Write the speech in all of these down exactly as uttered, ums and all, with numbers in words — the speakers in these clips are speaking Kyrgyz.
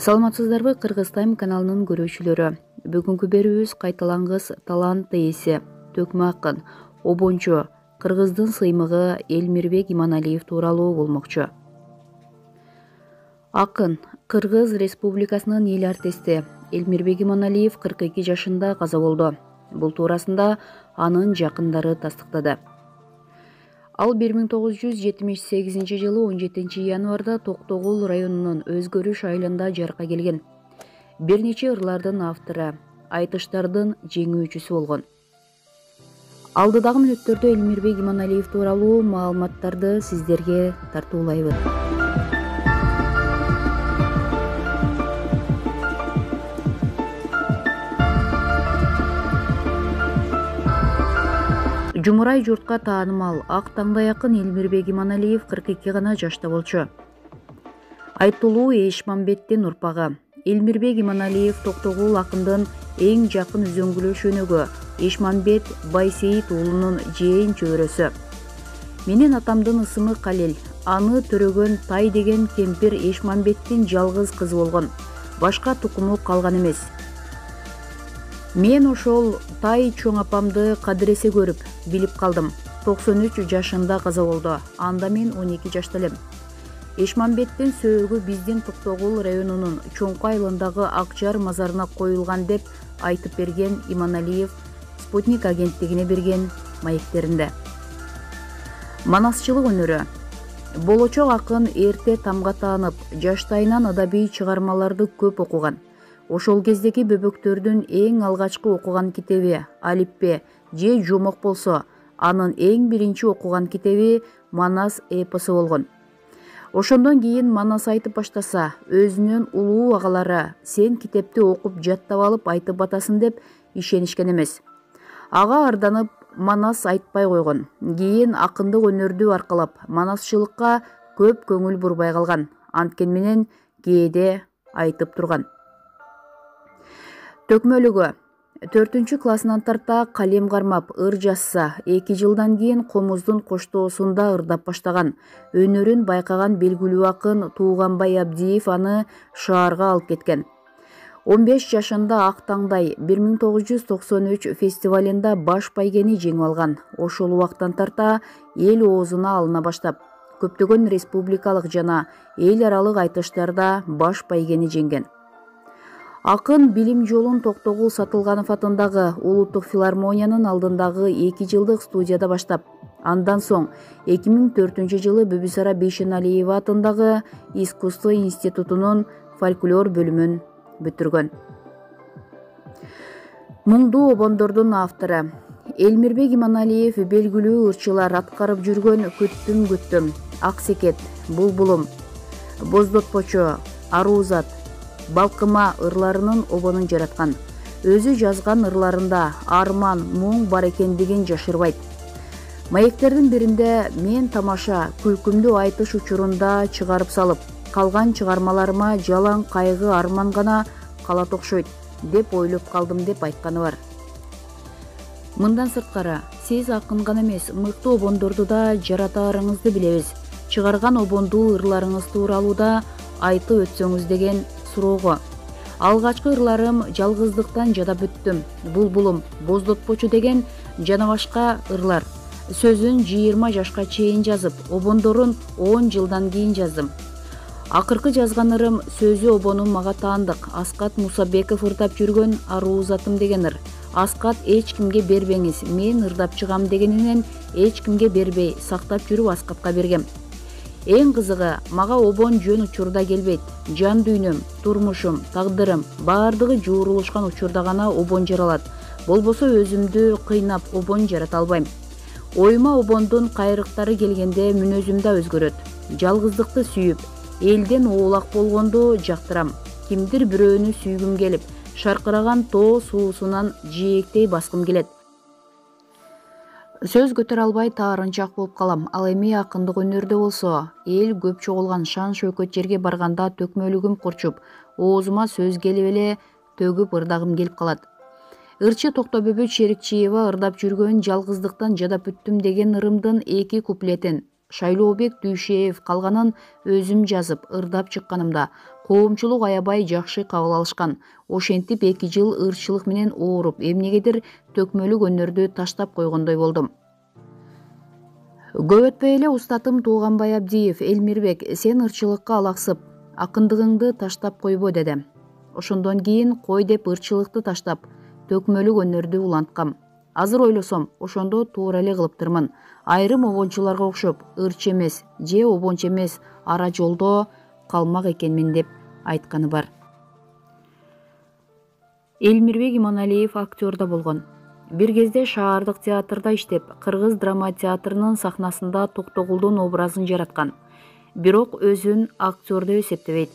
Саламатсыздарбы, Кыргыз Тайм каналынын көрүүчүлөрү. Бүгүнкү берүүбүз кайталангыс талант ээси, төкмө акын, обончу, кыргыздын сыймыгы Элмирбек Иманалиев тууралуу болмокчу. Акын, Кыргыз Республикасынын эл артисти Элмирбек Иманалиев кырк эки жашында каза болду. Бул туурасында анын жакындары тастыктады. Ал бир миң тогуз жүз жетимиш сегизинчи жылы он жетинчи январда Токтогул районунун Өзгөрүш айылында жарыкка келген. Бир нече ырлардын автору, айтыштардын жеңүүчүсү болгон. Алдыдагы мүнөттөрдө Элмирбек Иманалиев тууралуу маалыматтарды сиздерге тартуулайбыз. Жумурай журтка таанымал ак таңдай акын Элмирбек Иманалиев кырк эки гана жашта болчу. Айтылуу Эшмамбеттин урпагы. Элмирбек Иманалиев Токтогул акындын эң жакын үзөңгүлөш өнөгү Эшмамбет Байсейит уулунун жээн чөбөрөсү. Менин атамдын ысымы Калел. Аны төрөгөн Тай деген кемпир Эшмамбеттин жалгыз кызы болгон. Башка тукуму калган эмес. Мен ошол Тай чоң апамды кадыресе көрүп, билип калдым. токсон үч жашында каза болду. Анда мен он эки жашта элем. Эшмамбеттин сөөгү биздин Токтогул районунун Чоңку айылындагы Акжар мазарына коюлган деп айтып берген Иманалиев Спутник агенттигине берген маектеринде. Манасчылык өнөрү. Болочок акын эрте тамга таанып, жаштайынан адабий чыгармаларды көп окуган. Ошол кездеги бөбөктөрдүн эң алгачкы окуган китеби Алиппе же Жомок болсо, анын эң биринчи окуган китеби Манас эпосу болгон. Ошондон кийин Манас айтып баштаса, өзүнүн улуу агалары сен китепти окуп жаттап алып айтып атасың деп ишенишкен эмес. Ага арданып Манас айтпай койгон. Кийин акындык өнөрдү аркалап манасчылыкка көп көңүл бурбай калган. Анткен менен кээде айтып турган. Төкмөлүгү. төртүнчү классынан тарта калем кармап ыр жазса, эки жылдан кийин Комуздун коштоосунда ырдап баштаган. Өнөрүн байкаган белгилүү акын Тууганбай Абдиев аны шаарга алып кеткен. он беш жашында Ак таңдай бир миң тогуз жүз токсон үч фестивалында баш байгени жеңип алган. Ошол убактан тарта эл оозуна алына баштап, көптөгөн республикалык жана эл аралык айтыштарда баш байгени жеңген. Акын билим жолун Токтогул Сатылганов атындагы Улуттук филармониянын алдындагы эки жылдык студияда баштап, андан соң эки миң төртүнчү жылы Бүбүсара Бейшеналиева атындагы Искусство институтунун фольклор бөлүмүн бүтүргөн. Муңдуу обондордун автору. Элмирбек Иманалиев белгилүү ырчылар аткарып жүргөн Күттүм күттүм, Ак секет, Булбулум, Боздотпочу, Аруузат, Балкыма ырларынын обонун жараткан. Өзү жазган ырларында арман, муң бар экендигин жашырбайт. Маектердин биринде мен тамаша, күлкүмдү айтыш учурунда чыгарып салып, калган чыгармаларыма жалаң кайгы арман гана калат окшойт деп ойлоп калдым деп айтканы бар. Мындан сырткары, сиз акын гана эмес, мыкты обондорду да жаратаарыңызды билебиз. Чыгарган обондуу ырларыңыз тууралуу да айтып өтсөңүз деген суроого. Алгачкы ырларым Жалгыздыктан жадап бүттүм, Булбулум, Боздотпочу деген жана башка ырлар. Сөзүн жыйырма жашка чейин жазып, обондорун он жылдан кийин жаздым. Акыркы жазган ырым сөзү обону мага таандык. Аскат Мусабеков ырдап жүргөн Аруузатым деген ыр. Аскат эч кимге бербеңиз, мен ырдап чыгам дегенинен эч кимге бербей, сактап жүрүп Аскатка бергем. Эң кызыгы, мага обон жөн учурда келбейт. Жан дүйнөм, турмушум, тагдырым баардыгы жуурулушкан учурда гана обон жаралат. Болбосо өзүмдү кыйнап обон жарата албайм. Оюма обондун кайрыктары келгенде мүнөзүм да өзгөрөт. Жалгыздыкты сүйүп, элден оолак болгонду жактырам. Кимдир бирөөнү сүйгүм келип, шаркыраган тоо суусунан жээктей баскым келет. Сөз көтөрө албай таарынчак болуп калам. Ал эми акындык өнөрдө болсо, эл көп чогулган шан шөкөт жерге барганда төкмөлүгүм курчуп, оозума сөз келип эле төгүп ырдагым келип калат. Ырчы Токтобөбөт Шерикчиева ырдап жүргөн Жалгыздыктан жадап бүттүм деген ырымдын эки куплетин Шайлообек Дүйшеев калганын өзүм жазып, ырдап чыкканымда коомчулук аябай жакшы кабыл алышкан. Ошентип эки жыл ырчылык менен ооруп, эмнегедир төкмөлүк өнөрдү таштап койгондой болдум. Көп өтпөй эле устатым Тууганбай Абдиев: «Элмирбек, сен ырчылыкка алаксып, акындыгыңды таштап койбо», деди. Ошондон кийин кой деп ырчылыкты таштап, төкмөлүк өнөрдү уланткам. Азыр ойлосом, ошондо туура эле кылыптырмын. Айрым обончуларга окшоп, ырчы эмес же обончу эмес ара жолдо калмак экенмин деп айтканы бар. Элмирбек Иманалиев актер да болгон. Бир кезде шаардык театрда иштеп, Кыргыз драма театрынын сахнасында Токтогулдун образын жараткан. Бирок өзүн актер деп эсептебейт.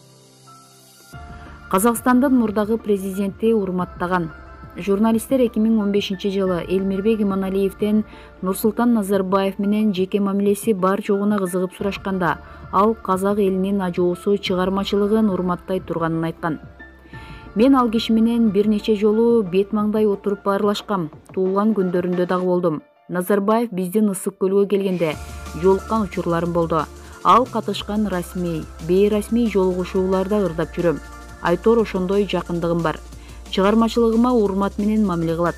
Казакстандын мурдагы президенти урматтаган. Журналисттер эки миң он бешинчи жылы Элмирбек Иманалиевден Нурсултан Назарбаев менен жеке мамилеси бар жогуна кызыгып сурашканда, ал казак элинин ажоосу чыгармачылыгын урматтай турганын айткан. Мен ал киши менен бир нече жолу бет маңдай отуруп баарлашкам, туулган күндөрүндө дагы болдум. Назарбаев биздин Ысык көлгө келгенде жолуккан учурларым болду. Ал катышкан расмий, бейрасмий жолугушууларда ырдап жүрөм. Айтор ошондой жакындыгым бар. Чыгармачылыгыма урмат менен мамиле кылат.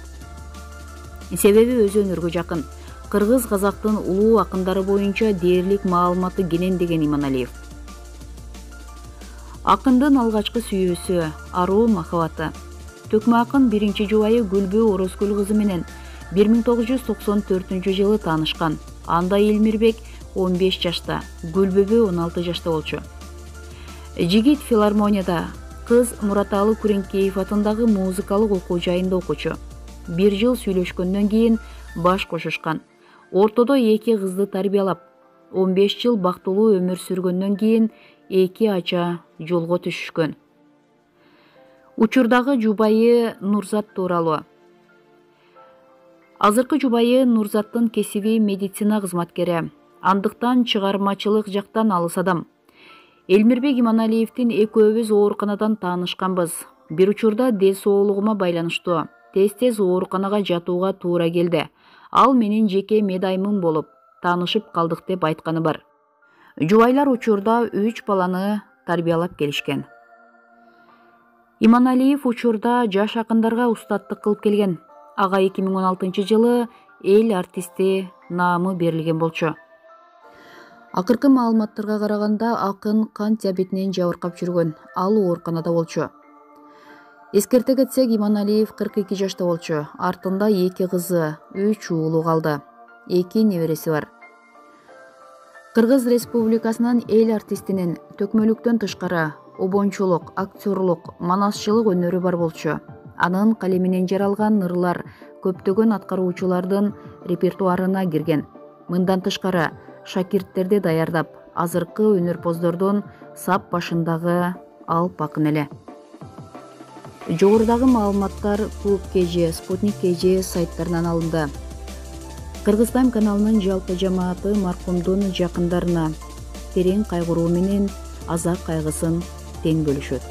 Себеби өзү өнөргө жакын. Кыргыз казактын улуу акындары боюнча дээрлик маалыматы кенен, деген Иманалиев. Акындын алгачкы сүйүүсү, аруу махабаты. Төкмө акын биринчи жубайы Гүлбү Орозкүл кызы менен бир миң тогуз жүз токсон төртүнчү жылы таанышкан. Анда Элмирбек он беш жашта, Гүлбүбү он алты жашта болчу. Жигит филармонияда, кыз Мураталы Күреңкеев атындагы музыкалык окуу жайында окучу. Бир жыл сүйлөшкөндөн кийин баш кошушкан. Ортодо эки кызды тарбиялап, он беш жыл бактылуу өмүр сүргөндөн кийин эки ача жолго түшүшкөн. Учурдагы жубайы Нурзат тууралуу. Азыркы жубайы Нурзаттын кесиби медицина кызматкери, андыктан чыгармачылык жактан алыс адам. Элмирбек Иманалиевдин экөөбүз ооруканадан таанышканбыз. Бир учурда дел соолугума байланыштуу. Тез-тез ооруканага жатууга туура келди. Ал менин жеке медаймым болуп, таанышып калдык деп айтканы бар. Жубайлар учурда үч баланы тарбиялап келишкен. Иманалиев учурда жаш акындарга устаттык кылып келген. Ага эки миң он алтынчы жылы эл артисти наамы берилген болчу. Акыркы маалыматтарга караганда, акын кант диабетинен жабыркап жүргөн. Ал ооруканада болчу. Эскерте кетсек, Иманалиев кырк эки жашта болчу. Артында эки кызы, үч уулу калды. эки небереси бар. Кыргыз Республикасынын эл артистинин төкмөлүктөн тышкары обончулук, актерлук, манасчылык өнөрү бар болчу. Анын калеминен жаралган ырлар көптөгөн аткаруучулардын репертуарына кирген. Мындан тышкары шакирттерди даярдап, азыркы өнөрпоздордун сап башындагы Алп акын эле. Жогорудагы маалыматтар Клуб ка жэ, Спутник ка жэ сайттарынан алынды. Кыргызстан каналынын жалпы жамааты маркумдун жакындарына терең кайгыруу менен азап кайгысын тең бөлүшөт.